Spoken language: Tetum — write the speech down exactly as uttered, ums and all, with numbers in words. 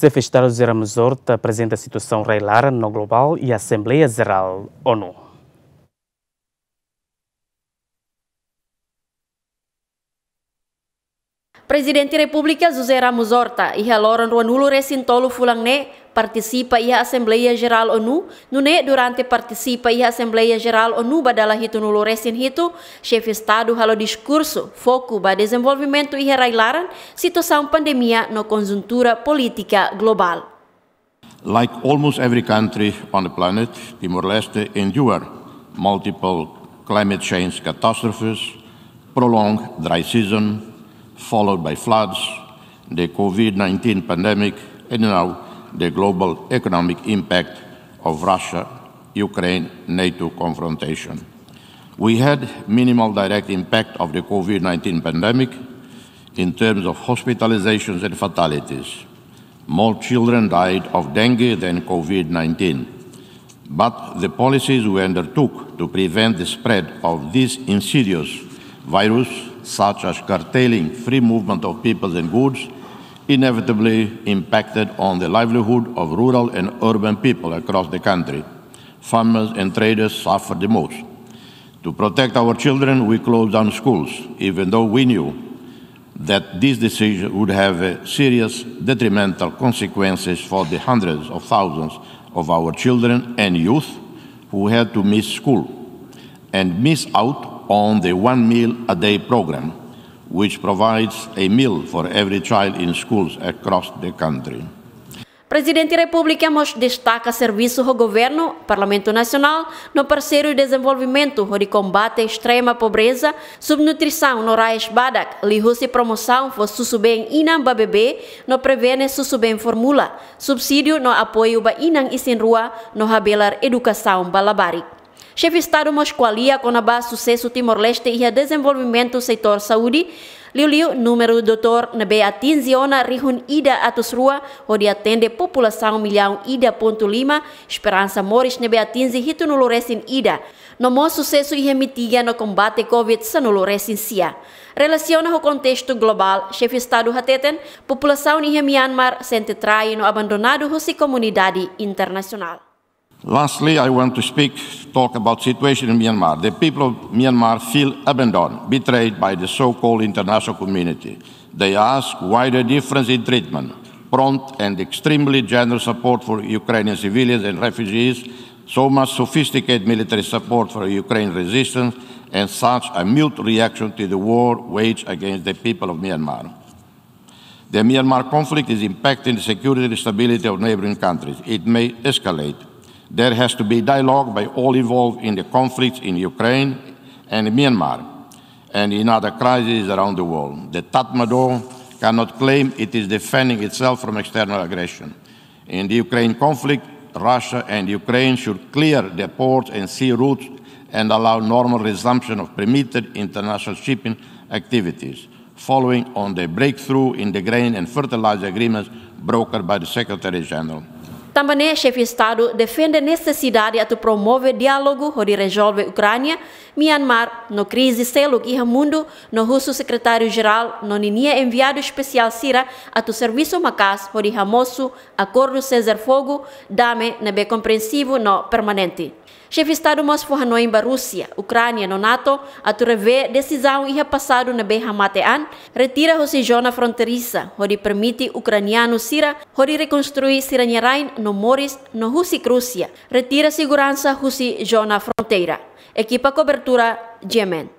Xefe Estadu José Ramos Horta aprezenta situasaun rai-laran no globál iha Asembleia Jerál ONU. Prezidente Repúblika José Ramos Horta, iha loron ruanulu-resin-tolu fulan ne'e, partisipa iha Asembleia Jerál ONU, nune'e durante partisipa iha Asembleia Jerál ONU ba dala hitunulu-resin-hitu, Xefe Estadu halo diskursu foku ba dezenvolvimentu iha rai-laran, situasaun pandemia no konjuntura polítika globál. Like almost every country on the planet, Timor-Leste endured multiple climate change catastrophes, prolonged dry season, followed by floods, the COVID nineteen pandemic, and now the global economic impact of Russia, Ukraine, NATO confrontation. We had minimal direct impact of the COVID nineteen pandemic in terms of hospitalizations and fatalities. More children died of dengue than COVID nineteen. But the policies we undertook to prevent the spread of this insidious virus, such as curtailing free movement of people and goods, inevitably impacted on the livelihood of rural and urban people across the country. Farmers and traders suffered the most. To protect our children, we closed down schools, even though we knew that this decision would have a serious detrimental consequences for the hundreds of thousands of our children and youth who had to miss school and miss out on the one meal a day program, which provides a meal for every child in schools across the country. Prezidente Repúblika mós destaka servisu ho governu, Parlamentu Nasionál, no parseiru dezenvolvimentu hodi kombate estrema pobreza, subnutrisaun no rais badak, liuhusi promosaun fó susubeen inan ba bebé, no prevene susubeen formula, subsídiu no apoiu ba inan isin-rua, no habelar edukasaun ba labarik. Xefe Estadu mós ko'alia kona-ba susesu Timor-Leste iha dezenvolvimentu setór saúde, liuliu númeru doutór ne'ebé atinje ona rihun ida atus rua, hodi atende populasaun millaun ida pontu lima, esperansa moris ne'ebé atinje hitunulu-resin-ida, no mós susesu iha mitiga no kombate COVID sanulu-resin-sia. Relasiona ho kontestu globál, Xefe Estadu hateten, populasaun iha Myanmar sente trai no abandonadu husi komunidade internasionál. Lastly, I want to speak, talk about situation in Myanmar. The people of Myanmar feel abandoned, betrayed by the so-called international community. They ask why the difference in treatment, prompt and extremely generous support for Ukrainian civilians and refugees, so much sophisticated military support for Ukraine resistance, and such a mute reaction to the war waged against the people of Myanmar. The Myanmar conflict is impacting the security and stability of neighboring countries. It may escalate. There has to be dialogue by all involved in the conflicts in Ukraine and Myanmar and in other crises around the world. The Tatmadaw cannot claim it is defending itself from external aggression. In the Ukraine conflict, Russia and Ukraine should clear the ports and sea routes and allow normal resumption of permitted international shipping activities, following on the breakthrough in the grain and fertilizer agreements brokered by the Secretary General. Tanba ne'e, Xefe Estadu defende nesesidade atu promove diálogu hodi rezolve Ukránia, Myanmar, no krize seluk iha mundu, no husu Sekretáriu-Jerál no ninia enviadu espesiál sira atu servisu maka'as hodi hamosu akordu sezafogu, dame ne'ebé komprensivu no permanente. Xefe Estadu mós fó hanoin ba Rúsia, Ukránia no NATO atu revee desizaun iha pasadu ne'ebé hamate an, retira husi zona fronteiriza, hodi permite ukranianu sira hodi rekonstrui sira-nia rain no moris, no husik Rúsia retira seguransa husi zona fronteira. Ekipa kobertura, G M N.